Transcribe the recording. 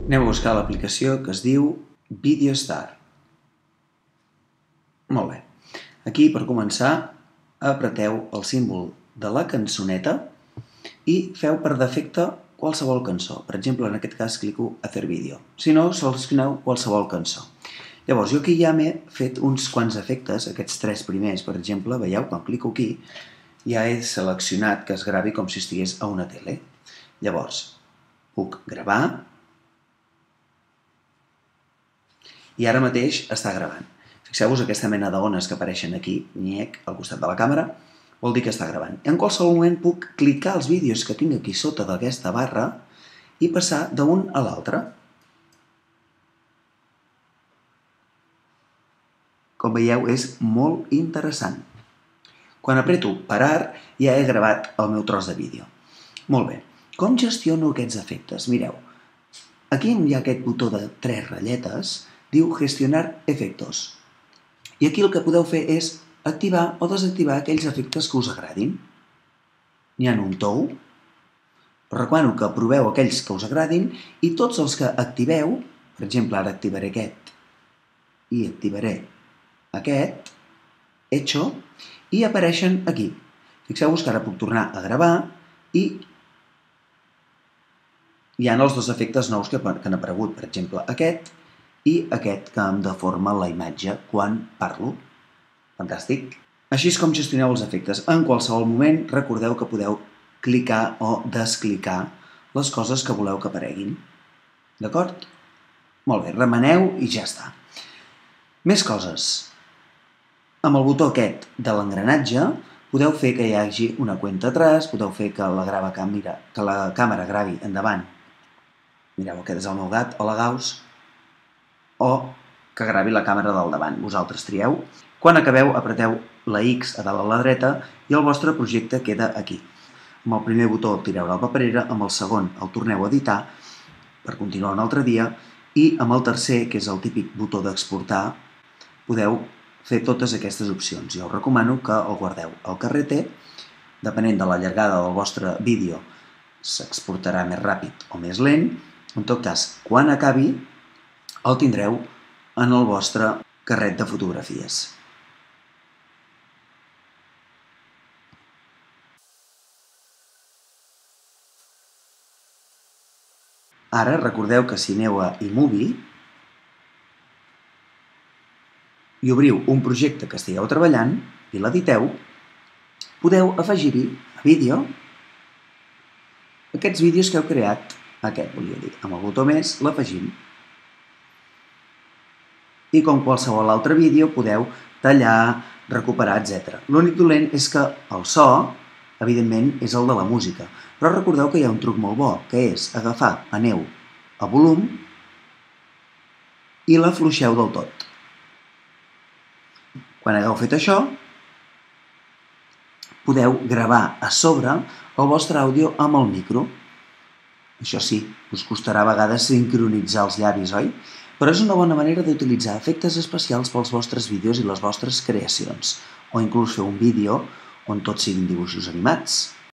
Anem a buscar l'aplicació que es diu VideoStar. Molt bé. Aquí, per començar, apreteu el símbol de la cançoneta i feu per defecte qualsevol cançó. Per exemple, en aquest cas clico Hacer vídeo. Si no, seleccioneu qualsevol cançó. Llavors, jo aquí ja m'he fet uns quants efectes, aquests 3 primers, per exemple, veieu, quan clico aquí, ja he seleccionat que es gravi com si estigués a una tele. Llavors, puc gravar i ara mateix està gravant. Fixeu-vos aquesta mena d'ones que apareixen aquí, nyec, al costat de la càmera, vol dir que està gravant. En qualsevol moment puc clicar els vídeos que tinc aquí sota d'aquesta barra i passar d'un a l'altre. Com veieu, és molt interessant. Quan apreto parar, ja he gravat el meu tros de vídeo. Molt bé. Com gestiono aquests efectes? Mireu, aquí hi ha aquest botó de 3 ratlletes, diu Gestionar efectos. I aquí el que podeu fer és activar o desactivar aquells efectes que us agradin. N'hi ha un tou. Recomano que proveu aquells que us agradin i tots els que activeu, per exemple, ara activaré aquest i activaré aquest, hecho, i apareixen aquí. Fixeu-vos que ara puc tornar a gravar i hi ha els 2 efectes nous que han aparegut, per exemple, aquest i aquest que em deforma la imatge quan parlo. Fantàstic! Així és com gestioneu els efectes. En qualsevol moment recordeu que podeu clicar o desclicar les coses que voleu que apareguin. D'acord? Molt bé, remeneu i ja està. Més coses. Amb el botó aquest de l'engranatge podeu fer que hi hagi una cuenta atrás, podeu fer que la càmera gravi endavant. Mireu, aquest és el meu gat, hola Gauss, o que gravi la càmera del davant. Vosaltres trieu. Quan acabeu, apreteu la X a dalt a la dreta i el vostre projecte queda aquí. Amb el primer botó el tireu a la paperera, amb el segon el torneu a editar per continuar un altre dia i amb el tercer, que és el típic botó d'exportar, podeu fer totes aquestes opcions. Jo us recomano que el guardeu al carrete, depenent de la llargada del vostre vídeo s'exportarà més ràpid o més lent. En tot cas, quan acabi, el tindreu en el vostre carret de fotografies. Ara recordeu que si aneu a iMovie i obriu un projecte que estigueu treballant i l'editeu, podeu afegir-hi a vídeo aquests vídeos que heu creat, aquest volia dir, amb el botó més l'afegim. I com qualsevol altre vídeo podeu tallar, recuperar, etc. L'únic dolent és que el so, evidentment, és el de la música. Però recordeu que hi ha un truc molt bo, que és agafar, aneu a volum i l'afluixeu del tot. Quan hagueu fet això, podeu gravar a sobre el vostre àudio amb el micro. Això sí, us costarà a vegades sincronitzar els llavis, oi? Però és una bona manera d'utilitzar efectes especials pels vostres vídeos i les vostres creacions, o inclús fer un vídeo on tots siguin dibuixos animats.